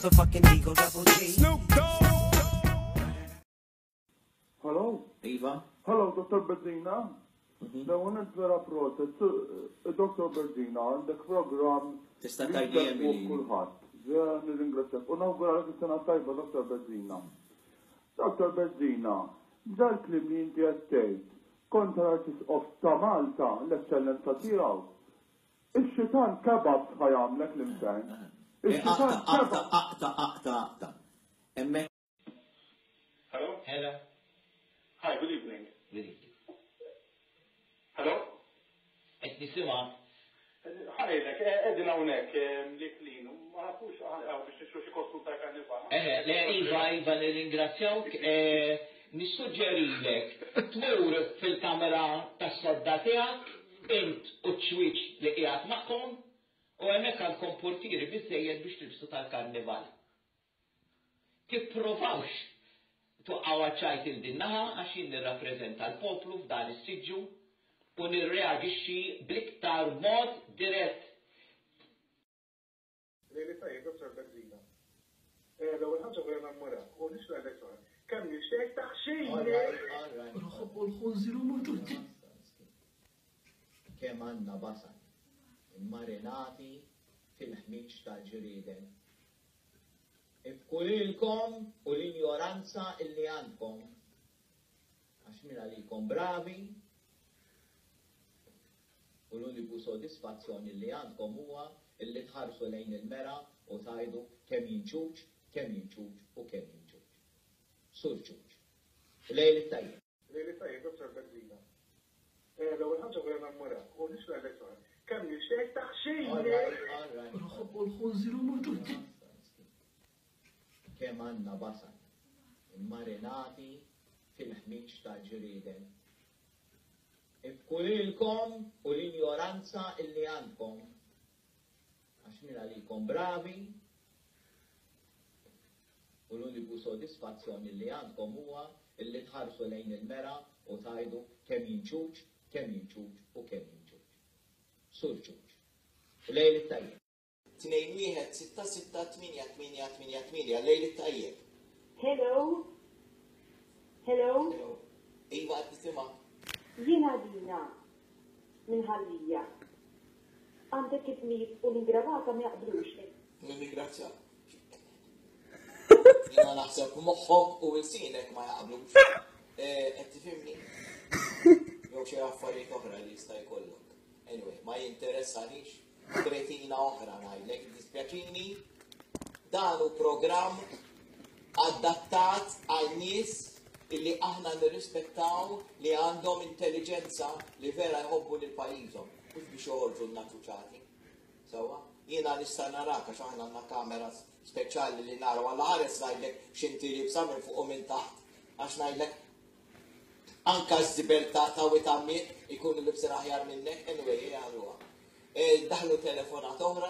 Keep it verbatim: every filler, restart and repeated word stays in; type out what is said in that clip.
motherfucking Eagle Double G. Snoop Dogg. Hello? Iva? Hello, Dottor Bezzina? L-ewwel vera proset. Dottor Bezzina, għandek program Tista' tgħidli Emily. Kulħadd. Vera nirringrazzjak. U nawguralek is-sena tajba, Dottor Bezzina. Dottor Bezzina, dal-kliem li inti qed tgħid kontra l-Arċisqof ta' Malta, l-Eċċellenza tiegħu. Ix-xitan kebab ħa jagħmlek l-infern. Eh, Ix-xitan Aqta, aqta, kebab. Aqta, aqta, aqta. Hemmhekk Hello? Hello. Hi, good evening. Good evening. Hello? Qed nisimgħek. Hi, lek, qegħdin hawnhekk li klin, ma nafux għaw biex nixtru xi kostum ta' karnival. Eh, le, Iva, Iva, nirringrazzjawk. Eh, Nissuġġerilek tmur fil-kamera tas-sodda tiegħek, int u ċ-ċwieċ li qiegħed magħkom, u hemmhekk għandkom portieri biżejjed biex tilbsu tal-karnival. Tipprovawx tuqqaw ċajt il din-naħa għax jien nirrappreżenta l-poplu f'dan is-siġġu u nirreaġixxi bl-iktar mod dirett. Lejli tajjeb, Dottor Bezzina. L-ewwel ħaġa vera nammurak u nixtieq ngħidlek xi ħaġa. Kemm nixtieq taħxini! All right, all right. Nħobbu l-ħunżir u l-tutti. Kemm għandna basal immarinati fil-ħmiġ tal-ġrieden. Ibkulilkom u l-injoranza illi għandkom. Għax min għalikom bravi u l-uniku sodisfazzjoni li għandkom huwa illi tħarsu lejn il-mera u tgħidu kemm jien ċuċ, kemm jien ċuċ u kemm jien ċuċ. Sur ċuċ. Lejl it-tajjeb. Lejli tajjeb, Dottor Bezzina. L-ewwel ħaġa vera nammurak u nixtieq ngħidlek xi ħaġa. Kemm nixtieq All taħxini! right, all right. Nħobbu l-ħunżir u l-tutti. Kemm għandna basal immarinati fil-ħmiġ tal-ġrieden. Ibkulilkom u l-injoranza illi għandkom. Għax min għalikom bravi u l-uniku sodisfazzjoni li għandkom huwa illi tħarsu lejn il-mera u tgħidu kemm jien ċuċ, kemm jien ċuċ u kemm jien ċuċ. Sur ċuċ. Lejl it-tajjeb. Tnejn wieħed sitta sitta tminja tminja tminja tminja, lejl it-tajjeb. Hello? Hello? Hello. Iva, qed nisimgħek. Jiena Dina minn Ħal Lija. Għandek ismijiet u l-ingravata ma jaqblux. Nirringrazzjak. Jiena naħseb moħħok u ilsinek ma jaqblux. Eh, qed tifhimni? Jew xi affarijiet oħra li jista' jkollok. Anyway, ma jinteressanix kretina oħra ngħidlek, dispjaċini. Dan hu programm adattat għal nies illi aħna nirrispettaw, li għandhom intelligenza, li vera jħobbu lil pajjiżhom, mhux biex joħorġu n-naċuċati. Sewwa, jiena nista' narak għax aħna għandna kamera speċjali li naraw għal ħares ngħidlek x'inti liebsa minn fuq u minn taħt, għax ngħidlek anka ż-żibel ta' ta' witammi ikunu libsin aħjar minnek, anyway, jgħalluha. Daħlu telefonat oħra.